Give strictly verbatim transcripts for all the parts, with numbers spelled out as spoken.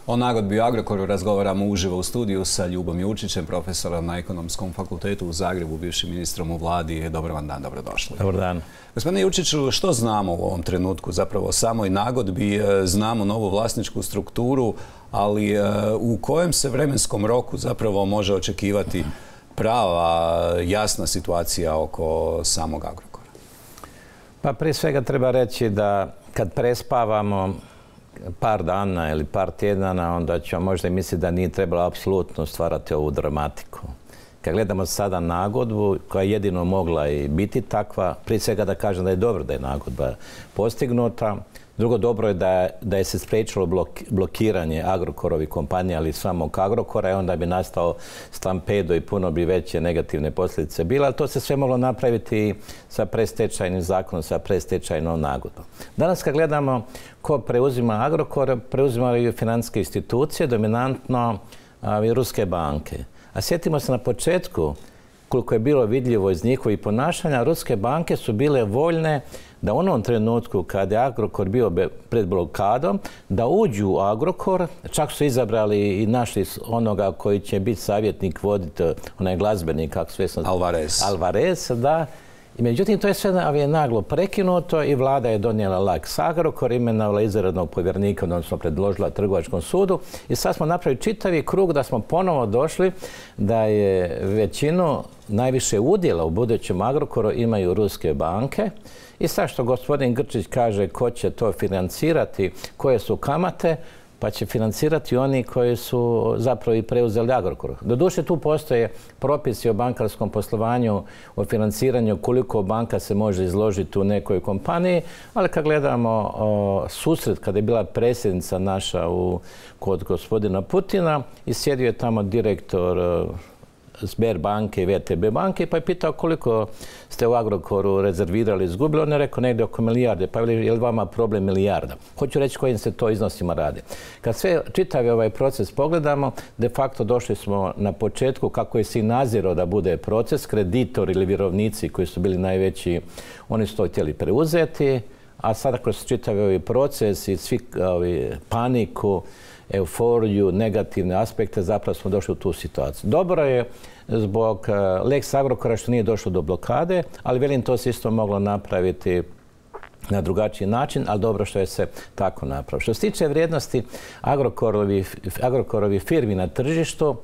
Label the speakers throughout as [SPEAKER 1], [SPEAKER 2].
[SPEAKER 1] O nagodbi u Agrokoru razgovaramo uživo u studiju sa Ljubom Jurčićem, profesorom na Ekonomskom fakultetu u Zagrebu, bivšim ministrom u vladi. Dobar vam dan, dobrodošli.
[SPEAKER 2] Dobar dan.
[SPEAKER 1] Gospodine Jurčiću, što znamo u ovom trenutku zapravo o samoj nagodbi? Znamo novu vlasničku strukturu, ali u kojem se vremenskom roku zapravo može očekivati prava, jasna situacija oko samog Agrokora?
[SPEAKER 2] Pa prije svega treba reći da kad prespavamo par dana ili par tjedana, onda ćemo možda i misliti da nije trebalo apsolutno stvarati ovu dramatiku. Kad gledamo sada nagodbu, koja je jedino mogla i biti takva, prije svega da kažem da je dobro da je nagodba postignuta. Drugo, dobro je da, da je se spriječilo blok, blokiranje Agrokorovih kompanija, ali samog Agrokora, i onda bi nastao stampedo i puno bi veće negativne posljedice bile, ali to se sve moglo napraviti sa predstečajnim zakonom, sa predstečajnom nagodbom. Danas kad gledamo ko preuzima Agrokor, preuzimaju financijske institucije, dominantno i ruske banke. A sjetimo se na početku, koliko je bilo vidljivo iz njihovih ponašanja, ruske banke su bile voljne da u onom trenutku kada je Agrokor bio pred blokadom, da uđu u Agrokor, čak su izabrali i našli onoga koji će biti savjetnik, voditi, onaj glazbenik, kako sve sam...
[SPEAKER 1] Alvarez.
[SPEAKER 2] Alvarez, da. I međutim, to je sve je naglo prekinuto i vlada je donijela Lex Agrokor, imenovala izvanrednog povjerenika, odnosno predložila Trgovačkom sudu. I sad smo napravili čitavi krug da smo ponovo došli da je većinu najviše udjela u budućem Agrokoru imaju ruske banke. I sad što gospodin Grčić kaže ko će to financirati, koje su kamate, pa će financirati oni koji su zapravo i preuzeli Agrokor. Doduše tu postoje propisi o bankarskom poslovanju, o financiranju, koliko banka se može izložiti u nekoj kompaniji, ali kad gledamo o, susret, kada je bila predsjednica naša u, kod gospodina Putina i sjedio je tamo direktor o, Sberbanke i V T B banke, pa je pitao koliko ste u Agrokoru rezervirali, izgubili. On je rekao negdje oko milijarde, pa je li vama problem milijarda? Hoću reći kojim se to iznosima radi. Kad sve čitavi ovaj proces pogledamo, de facto došli smo na početku kako je se i nazirao da bude proces, kreditori ili vjerovnici koji su bili najveći, oni su to htjeli preuzeti, a sada kroz čitavi ovaj proces i svi ovi paniku, euforiju, negativne aspekte, zapravo smo došli u tu situaciju. Dobro je zbog Lex Agrokora što nije došlo do blokade, ali velim to se isto moglo napraviti na drugačiji način, ali dobro što je se tako napravilo. Što se tiče vrijednosti Agrokorovi, Agrokorovi firmi na tržištu,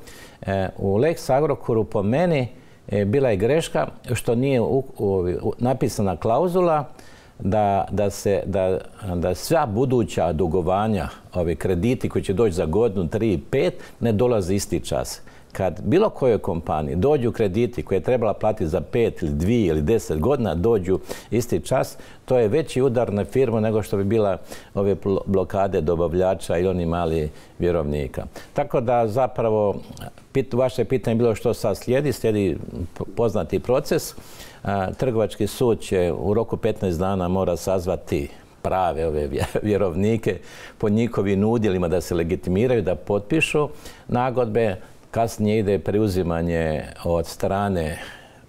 [SPEAKER 2] u Lex Agrokoru po meni bila je greška što nije u, u, u, napisana klauzula Da, da, se, da, da sva buduća dugovanja, ovi krediti koji će doći za godinu, tri, pet, ne dolaze isti čas. Kad bilo kojoj kompaniji dođu krediti koje je trebala platiti za pet ili dvije ili deset godina, dođu isti čas, to je veći udar na firmu nego što bi bila ove blokade dobavljača i oni mali vjerovnika. Tako da zapravo pit, vaše pitanje je bilo što sad slijedi, slijedi poznati proces. Trgovački sud će u roku petnaest dana mora sazvati prave ove vjerovnike po njihovim udjelima da se legitimiraju, da potpišu nagodbe. Kasnije ide preuzimanje od strane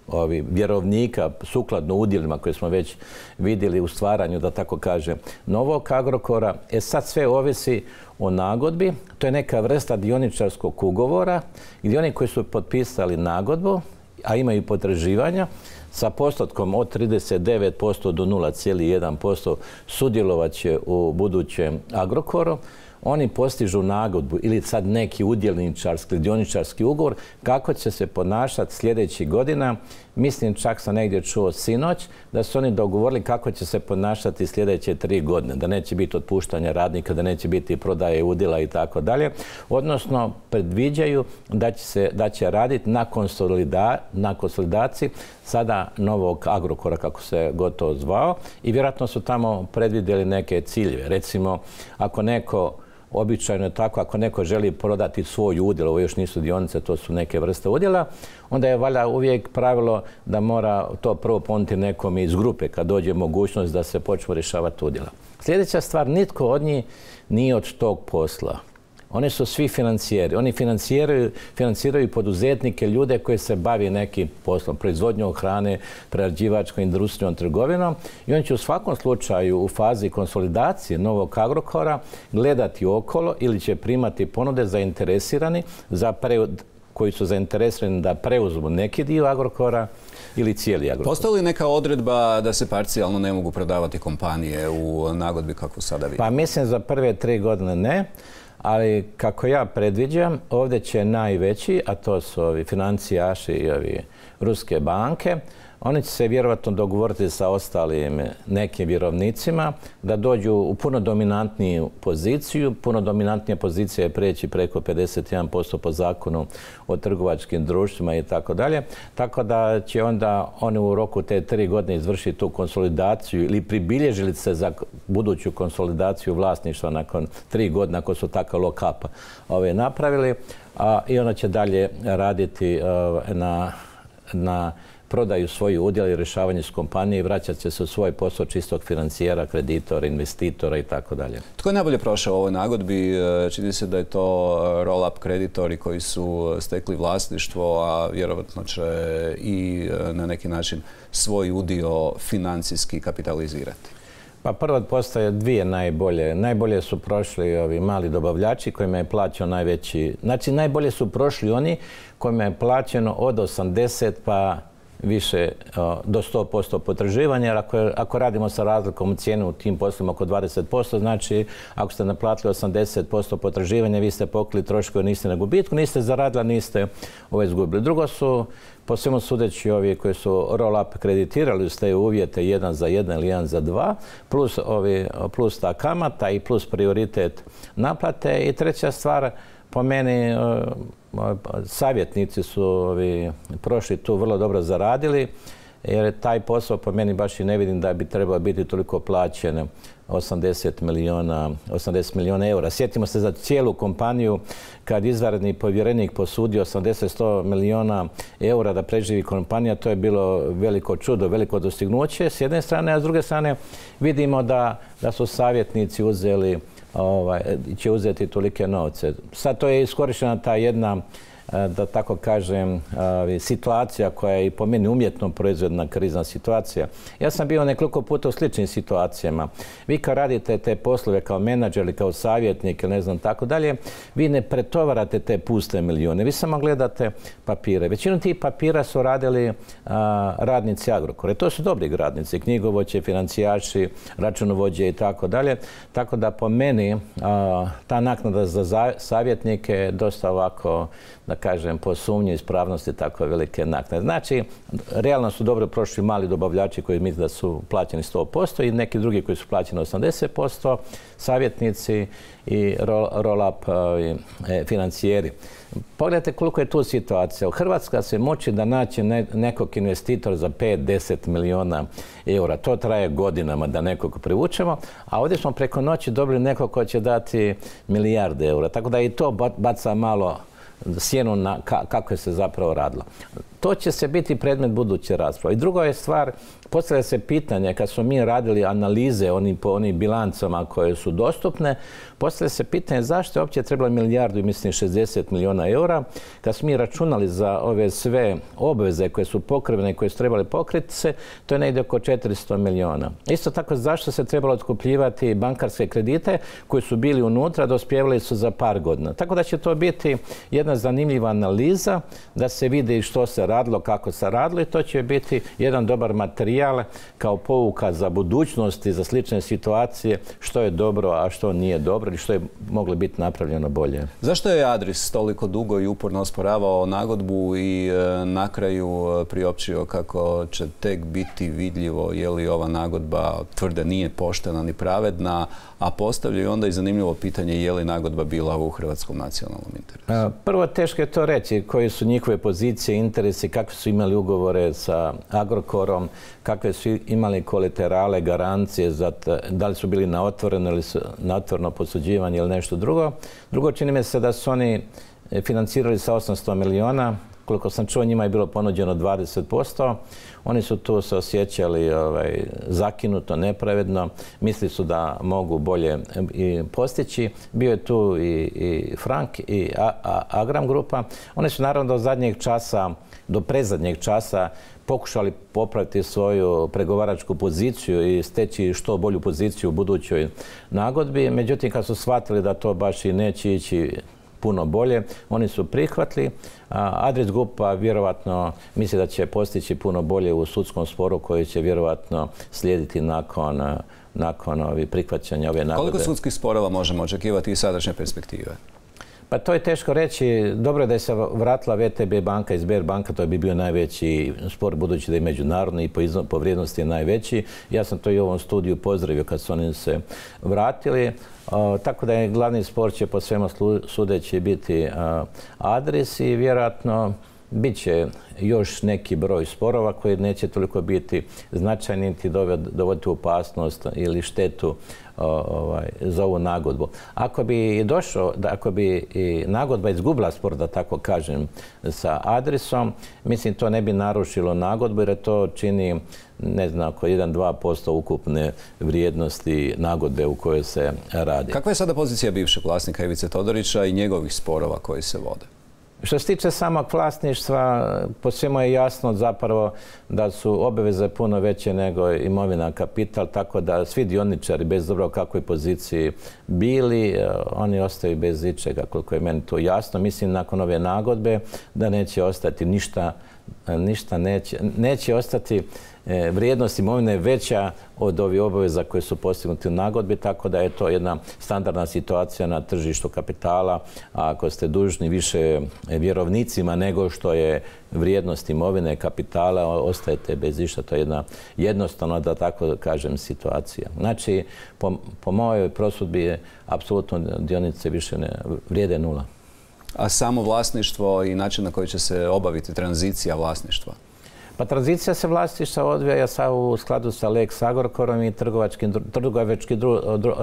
[SPEAKER 2] ovi vjerovnika sukladno udjelima koje smo već vidjeli u stvaranju, da tako kaže, novog Agrokora. E sad sve ovisi o nagodbi. To je neka vrsta dioničarskog ugovora gdje oni koji su potpisali nagodbu, a imaju potraživanja, sa postotkom od trideset devet posto do nula zarez jedan posto sudjelovat će u budućem Agrokoru. Oni postižu nagodbu ili sad neki udjelničarski, dioničarski ugovor kako će se ponašati sljedećih godina. Mislim, čak sam negdje čuo sinoć da su oni dogovorili kako će se ponašati sljedeće tri godine, da neće biti otpuštanja radnika, da neće biti prodaje udjela i tako dalje. Odnosno, predviđaju da će, se, da će raditi na, konsolida, na konsolidaciji sada novog Agrokora, kako se gotovo zvao, i vjerojatno su tamo predvidjeli neke ciljeve. Recimo, ako neko običajno je tako, ako neko želi prodati svoj udjel, ovo još nisu dionice, to su neke vrste udjela, onda je valjda uvijek pravilo da mora to prvo ponuditi nekom iz grupe kad dođe mogućnost da se počne rješavati udjela. Sljedeća stvar, nitko od njih nije od tog posla. Oni su svi financijeri. Oni financiraju, financiraju poduzetnike, ljude koji se bavi nekim poslom, proizvodnjom hrane, prerađivačkom industrijom, trgovinom. I oni će u svakom slučaju u fazi konsolidacije novog Agrokora gledati okolo ili će primati ponude zainteresirani za pre, koji su zainteresirani da preuzmu neki dio Agrokora ili cijeli Agrokor.
[SPEAKER 1] Postoji li neka odredba da se parcijalno ne mogu prodavati kompanije u nagodbi kako sada vidimo?
[SPEAKER 2] Pa mislim za prve tri godine ne, ali kako ja predviđam, ovdje će najveći, a to su ovi financijaši i ovi ruske banke, oni će se vjerovatno dogovoriti sa ostalim nekim vjerovnicima da dođu u puno dominantniju poziciju. Puno dominantnija pozicija je preći preko pedeset jedan posto po zakonu o trgovačkim društvima i tako dalje. Tako da će onda oni u roku te tri godine izvršiti tu konsolidaciju ili pribilježili se za buduću konsolidaciju vlasništva nakon tri godine ako su takav lock-up ove napravili. A, i onda će dalje raditi uh, na, na prodaju svoji udjela i rješavanje s kompanije i vraćat će se u svoj posao čistog financijera, kreditora, investitora i tako dalje.
[SPEAKER 1] Tko je najbolje prošao u ovoj nagodbi? Čini se da je to roll-up kreditori koji su stekli vlasništvo, a vjerovatno će i na neki način svoj udio financijski kapitalizirati.
[SPEAKER 2] Pa prvo postoje dvije najbolje. Najbolje su prošli ovi mali dobavljači kojima je plaćao najveći... Znači, najbolje su prošli oni kojima je plaćeno od osamdeset pa više do sto posto potraživanja, jer ako, ako radimo sa razlikom u cijenu u tim poslovima oko dvadeset posto, znači ako ste naplatili osamdeset posto potraživanja, vi ste pokrili troškove, niste na gubitku, niste zaradili, niste ovo izgubili. Drugo su, po svemu sudeći, ovi koji su roll-up kreditirali uz te uvjete jedan za jedan ili jedan za dva, plus, ovi, plus ta kamata i plus prioritet naplate. I treća stvar, po meni, savjetnici su ovi, prošli tu vrlo dobro zaradili, jer taj posao po meni baš i ne vidim da bi trebao biti toliko plaćen osamdeset milijuna eura. Sjetimo se za cijelu kompaniju kad izvanredni povjerenik posudio osamdeset do sto milijuna eura da preživi kompanija, to je bilo veliko čudo, veliko dostignuće s jedne strane, a s druge strane vidimo da, da su savjetnici uzeli Ovaj, će uzeti tolike novce. Sad to je iskorištena ta jedna, da tako kažem, situacija koja je i po meni umjetno proizvedna krizna situacija. Ja sam bio nekoliko puta u sličnim situacijama. Vi kad radite te poslove kao menadžer ili kao savjetnik ili ne znam tako dalje, vi ne pretovarate te puste milijune. Vi samo gledate papire. Većinu tih papira su radili a, radnici Agrokora. To su dobri radnici, knjigovođe, financijaši, računovođe i tako dalje. Tako da po meni a, ta naknada za savjetnike je dosta ovako, da kažem, po sumnji ispravnosti tako velike naknade. Znači, realno su dobro prošli mali dobavljači koji misle da su plaćeni sto posto i neki drugi koji su plaćeni osamdeset posto, savjetnici i roll-up financijeri. Pogledajte koliko je tu situacija. U Hrvatska se moći da naći nekog investitora za pet do deset milijuna eura. To traje godinama da nekog privučemo, a ovdje smo preko noći dobili nekog ko će dati milijarde eura. Tako da i to baca malo sjenu na kako je se zapravo radilo. To će se biti predmet buduće rasprave. I druga je stvar, postavlja se pitanje, kad smo mi radili analize oni, po onim bilancama koje su dostupne, postavlja se pitanje zašto je uopće trebalo milijardu i mislim šezdeset milijuna eura, kad smo mi računali za ove sve obveze koje su pokrivene i koje su trebali pokriti se, to je negdje oko četiristo milijuna. Isto tako, zašto se trebalo otkupljivati bankarske kredite koji su bili unutra, dospjevali su za par godina. Tako da će to biti jedna zanimljiva analiza da se vidi što se radilo, kako se radilo i to će biti jedan dobar materijal kao pouka za budućnost i za slične situacije što je dobro, a što nije dobro i što je moglo biti napravljeno bolje.
[SPEAKER 1] Zašto je Adris toliko dugo i uporno osporavao nagodbu i e, na kraju priopćio kako će tek biti vidljivo je li ova nagodba tvrde nije poštena ni pravedna, a postavljaju onda i zanimljivo pitanje je li nagodba bila u hrvatskom nacionalnom interesu?
[SPEAKER 2] Prvo, teško je to reći koje su njihove pozicije, interesi, kakve su imali ugovore sa Agrokorom, kakve su imali kolaterale, garancije, za da li su bili na otvoreno ili na otvoreno posuđivanje ili nešto drugo. Drugo, čini mi se da su oni financirali sa osamsto milijuna koliko sam čuo, njima je bilo ponuđeno dvadeset posto. Oni su tu se osjećali ovaj, zakinuto, nepravedno. Mislili su da mogu bolje i postići. Bio je tu i, i Frank i A, A, Agram grupa. Oni su naravno do zadnjeg časa, do prezadnjeg časa pokušali popraviti svoju pregovaračku poziciju i steći što bolju poziciju u budućoj nagodbi. Međutim, kad su shvatili da to baš i neće ići puno bolje, oni su prihvatili. Adris grupa vjerovatno misli da će postići puno bolje u sudskom sporu koji će vjerovatno slijediti nakon, nakon ovih prihvaćanja ove nagodbe.
[SPEAKER 1] Koliko sudskih sporova možemo očekivati iz sadašnje perspektive?
[SPEAKER 2] Pa to je teško reći. Dobro je da je se vratila V T B banka i Sberbanka, to bi bio najveći spor, budući da je međunarodni i po, izno, po vrijednosti je najveći. Ja sam to i u ovom studiju pozdravio kad su oni se vratili. O, tako da je glavni spor će po svemu sudeći biti a, Adris i vjerojatno bit će još neki broj sporova koji neće toliko biti značajni niti dovoditi u opasnost ili štetu ovaj, za ovu nagodbu. Ako bi došlo, ako bi i nagodba izgubila spor, da tako kažem, sa Adrisom, mislim to ne bi narušilo nagodbu jer to čini, ne znam, oko jedan do dva posto ukupne vrijednosti nagodbe u kojoj se radi.
[SPEAKER 1] Kakva je sada pozicija bivšeg vlasnika Ivice Todorića i njegovih sporova koji se vode?
[SPEAKER 2] Što se tiče samog vlasništva, po svemu je jasno zapravo da su obaveze puno veće nego imovina, kapital, tako da svi dioničari, bez dobro u kakvoj poziciji bili, oni ostaju bez ičega, koliko je meni to jasno. Mislim, nakon ove nagodbe da neće ostati ništa, ništa neće, neće ostati vrijednost imovine veća od ovih obaveza koje su postignuti u nagodbi, tako da je to jedna standardna situacija na tržištu kapitala. A ako ste dužni više vjerovnicima nego što je vrijednost imovine kapitala, ostajete bez išta. To je jedna jednostavno, da tako kažem, situacija. Znači, po, po mojoj prosudbi apsolutno dionice više ne vrijede nula.
[SPEAKER 1] A samo vlasništvo i način na koji će se obaviti tranzicija vlasništva?
[SPEAKER 2] Pa tranzicija se vlasništva odvija u skladu sa Lex Agrokorom i trgovački, trgovački,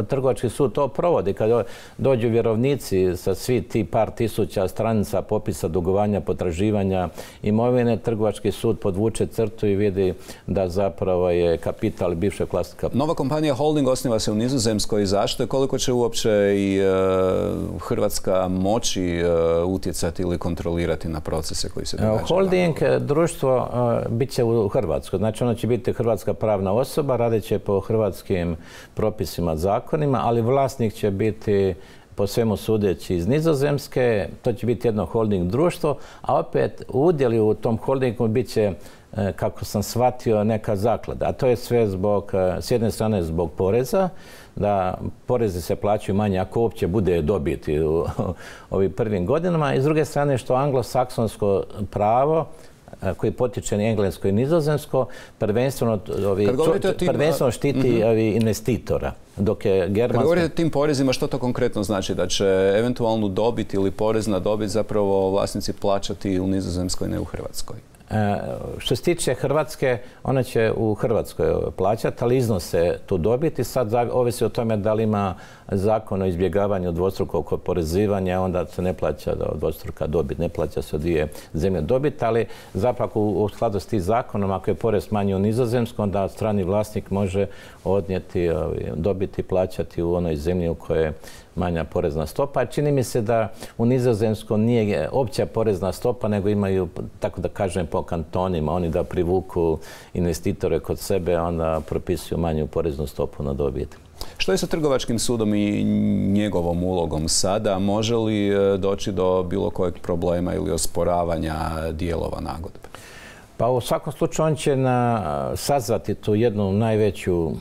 [SPEAKER 2] trgovački sud to provodi. Kad dođu vjerovnici sa svi ti par tisuća stranica popisa dugovanja, potraživanja imovine, trgovački sud podvuče crtu i vidi da zapravo je kapital bivšeg vlasnika.
[SPEAKER 1] Nova kompanija Holding osniva se u Nizozemskoj. Zašto? Koliko će uopće i e, Hrvatska moći e, utjecati ili kontrolirati na procese koji se događaju?
[SPEAKER 2] Holding, društvo, bit će u Hrvatskoj. Znači, ono će biti hrvatska pravna osoba, radit će po hrvatskim propisima, zakonima, ali vlasnik će biti po svemu sudeći iz Nizozemske. To će biti jedno holding društvo, a opet udjeli u tom holdingu bit će, kako sam shvatio, neka zaklada. A to je sve zbog, s jedne strane zbog poreza, da porezi se plaćaju manje ako uopće bude dobiti u ovim prvim godinama, i s druge strane što anglosaksonsko pravo koji potiče na englesko i nizozemsko, prvenstveno, ovi, tim, prvenstveno štiti uh-huh. ovi investitora. Dok je germanska... Kad govorite o tim porezima, što to konkretno znači? Da će eventualnu dobit ili porez na dobit zapravo vlasnici plaćati u Nizozemskoj, ne u Hrvatskoj? E, što se tiče Hrvatske, ona će u Hrvatskoj plaćati, ali iznose tu dobiti. Sad ovisi o tome da li ima zakon o izbjegavanju dvostrukog oporezivanja, onda se ne plaća dvostruka dobit, ne plaća se od dvije zemlje dobit, ali zapravo u skladu s tim zakonom, ako je porez manji u Nizozemskom, onda strani vlasnik može odnijeti dobiti, plaćati u onoj zemlji u kojoj je manja porezna stopa. Čini mi se da u Nizozemskom nije opća porezna stopa, nego imaju, tako da kažem, po kantonima. Oni da privuku investitore kod sebe, onda propisuju manju poreznu stopu na dobit.
[SPEAKER 1] Što je sa trgovačkim sudom i njegovom ulogom sada? Može li doći do bilo kojeg problema ili osporavanja dijelova nagodbe?
[SPEAKER 2] Pa u svakom slučaju on će na, sazvati tu jednu najveću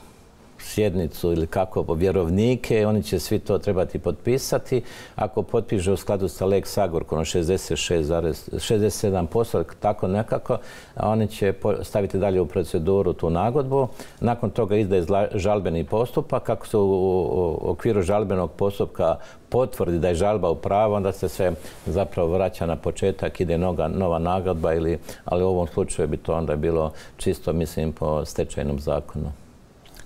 [SPEAKER 2] sjednicu ili kako vjerovnike, oni će svi to trebati potpisati. Ako potpiše u skladu sa Lex Agrokorom šezdeset šest zarez šezdeset sedam posto, tako nekako, oni će staviti dalje u proceduru tu nagodbu. Nakon toga izdaje žalbeni postupak. Kako se u okviru žalbenog postupka potvrdi da je žalba u pravu, onda se sve zapravo vraća na početak, ide noga, nova nagodba, ili, ali u ovom slučaju bi to onda bilo čisto, mislim, po stečajnom zakonu.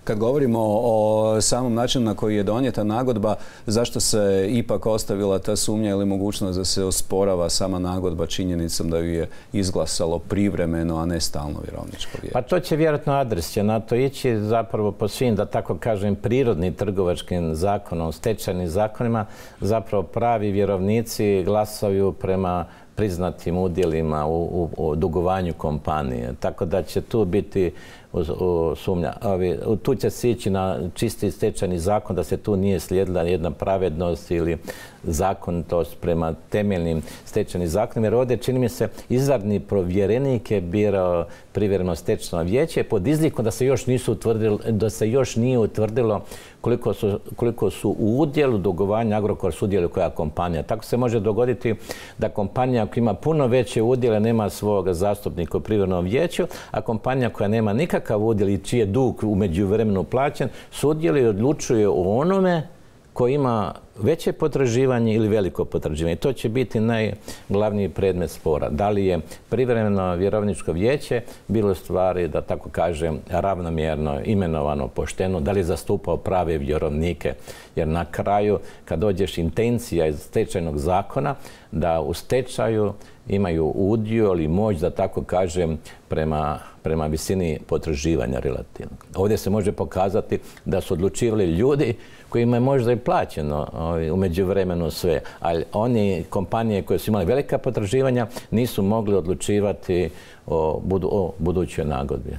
[SPEAKER 1] Kad govorimo o samom načinu na koji je donijeta nagodba, zašto se ipak ostavila ta sumnja ili mogućnost da se osporava sama nagodba činjenicom da ju je izglasalo privremeno, a ne stalno vjerovničko vijeće?
[SPEAKER 2] Pa to će vjerojatno adres će na to ići zapravo po svim, da tako kažem, prirodnim trgovačkim zakonom, stečajnim zakonima, zapravo pravi vjerovnici glasaju prema priznatim udjelima u, u, u dugovanju kompanije. Tako da će tu biti u, u, sumnja. Ovi, tu će se ići na čisti stečajni zakon, da se tu nije slijedila jedna pravednost ili zakonitost prema temeljnim stečajnim zakonima. Jer ovdje, čini mi se, izvanredni povjerenik je birao privremeno stečajno vijeće pod izlikom da se još nisu utvrdilo, da se još nije utvrdilo koliko su, koliko su u udjelu dugovanja Agrokor sudjeluje koja kompanija. Tako se može dogoditi da kompanija ako ima puno veće udjele nema svog zastupnika u privremenom vijeću, a kompanija koja nema nikakav udjel i čiji je dug u međuvremenu plaćen, sudjeluje i odlučuje o onome koji ima veće potraživanje ili veliko potraživanje. To će biti najglavniji predmet spora. Da li je privremeno vjerovničko vijeće bilo stvari, da tako kažem, ravnomjerno imenovano, pošteno, da li je zastupao prave vjerovnike. Jer na kraju, kad dođeš intencija iz stečajnog zakona, da u stečaju imaju udio ili moć, da tako kažem, prema, prema visini potraživanja relativnog. Ovdje se može pokazati da su odlučivali ljudi kojima je možda i plaćeno u međuvremenu sve, ali oni kompanije koje su imali velika potraživanja nisu mogli odlučivati o, budu, o budućoj nagodbi.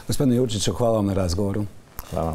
[SPEAKER 1] Gospodine Jurčiću, hvala vam na razgovoru.